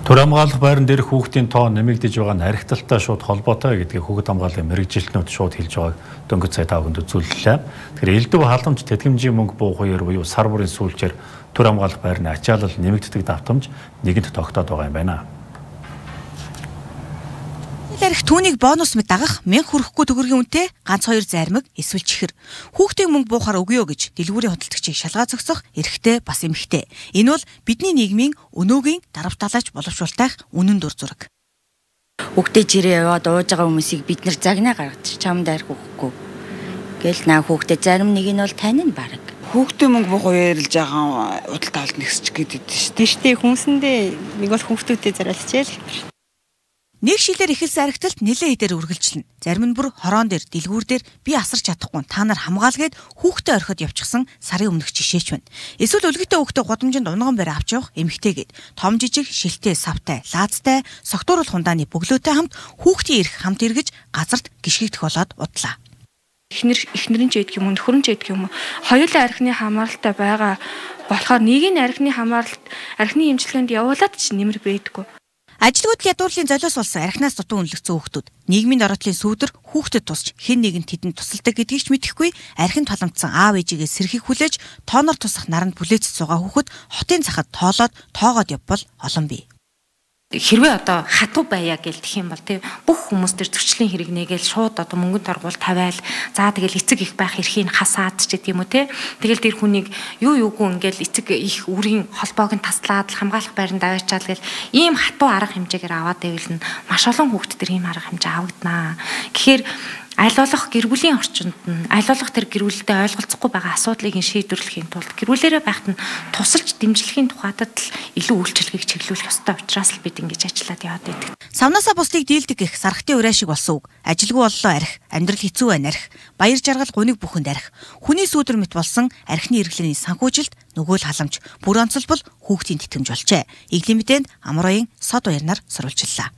Төр хамгаалах байран дээрх хүүхдийн тоо нэмэгдэж байгаа нь архиталтай шууд холбоотой гэдгийг хүүхэд хамгааллын мэрэгжилтнүүд шууд хэлж байгааг дөнгөж сая та бүхэнд үзүүллээ. Тэгэхээр элдв халамж тэтгэмжийн мөнгө буу хоёр буюу сар бүрийн сүүлчээр төр хамгаалах байрны ачаалал нэмэгддэг давтамж нэгэнт тогтоод байгаа юм байна. Арх түүнийг бонус мэт дагах 1000 хүрэхгүй төгрөгийн үнэтэй ганц 2 зармиг эсвэл чихэр хүүхдийн мөнгө буухаар өгье гэж дэлгүүрийн худалдагчийг шалгаа зогсох эрхтэй бас эмхтэй. Энэ бол бидний нийгмийн өнөөгийн дарамтлаач боловсруулах үнэн дур зураг. Хүүхдээ жирээ яваад ууж байгаа хүмүүсийг бид нар загнаа гаргачих чамд арх өгөхгүй. Гэл наа хүүхдээ зарим нэг нь бол тань нь бараг. Хүүхдийн мөнгө буу яриулж байгаа удал таалт нэгсч гэдэг шүү дээ. Тийштэй хүмүүсэндээ нэг бол хүүхдүүдэд зарайлчээл. Нэг шилээр эхэлсэн архиталт нэлээд хэдээр үргэлжлэнэ. Зарим нь бүр хорон дээр, дэлгүүр дээр би асарч чадахгүй та нар хамгаалгээд хүүхдээ орхиод явчихсан сарын өмнөх жишээч байна. Эсвэл өлгөтэй хүүхдээ гудамжинд унган барь авч явах эмэгтэйгээд том жижиг шилтэй, савтай, лаазтай, согтууруулах хундааны бөглөөтэй хамт хүүхдийн эрх хамт эргэж газарт гიშгэгдэх болоод удлаа. Эхнэр нь ч ядг юм, нөхөр нь ч ядг юм. Хоёулаа архины хамааралтай байгаа болохоор нэг нь архины эмчилгээнд явуулаад ч нэмэр байдаггүй. Ажилгүйд ядуурлын золиос болсон архинаас дутуу үнэлэгдсэн хүүхдүүд нийгмийн доротлын сүүдэр хүүхдэд тусч хэн нэгэнд тэдэнд тусалдаг гэдгийг ч мэдэхгүй архинд таламжсан аав ээжигээ сэрхийг хүлээж тооноор тусах наранд бүлээцэд суугаа хүүхэд хотын цахад тоогоод явбал олон бий. Хэрвээ одоо хатуу байя гэл тэх юм бол тийм бүх хүмүүс төр зөрчлийн хэрэг нэгээл шууд одоо мөнгөнд торгуул тавиал за тэгэл эцэг их байх эрхийг хасаад ч гэдэг юм уу те тэгэл тэр хүнийг юугүй ингээл эцэг их үрийн холбоог нь таслаад хамгаалах байранд аваачаал гэл ийм хатуу арга хэмжээгээр аваад байвал нь маш олон хүүхд төр ийм арга хэмжээ авагдана. Тэгэхээр аль болох гэр бүлийн орчинд нь аль болох тэр гэр бүлтэй ойлголцохгүй байгаа асуудлыг шийдвэрлэхийн тулд гэр бүлээрээ байхад нь тусалж дэмжлэхийн тухайд л илүү үйлчлэгийг чиглүүлэх ёстой учраас л бид ингэж ажиллаад яваад байдаг. Савнасаа бусдыг дийлдэг гэх сархтын ураа шиг болсон үг. Ажилгүй боллоо арх, амьдрал хэцүү байна арх, баяр жаргал гуниг бүхэнд арх. Хүний сүүдэр мэт болсон архины эрхлэний санхүүжилт нөгөө л халамж, бүр онцлбол хүүхдийн тэтгэмж болжээ. Иглийн мэдээнд Амрын сод баярнаар сурвалжлаа.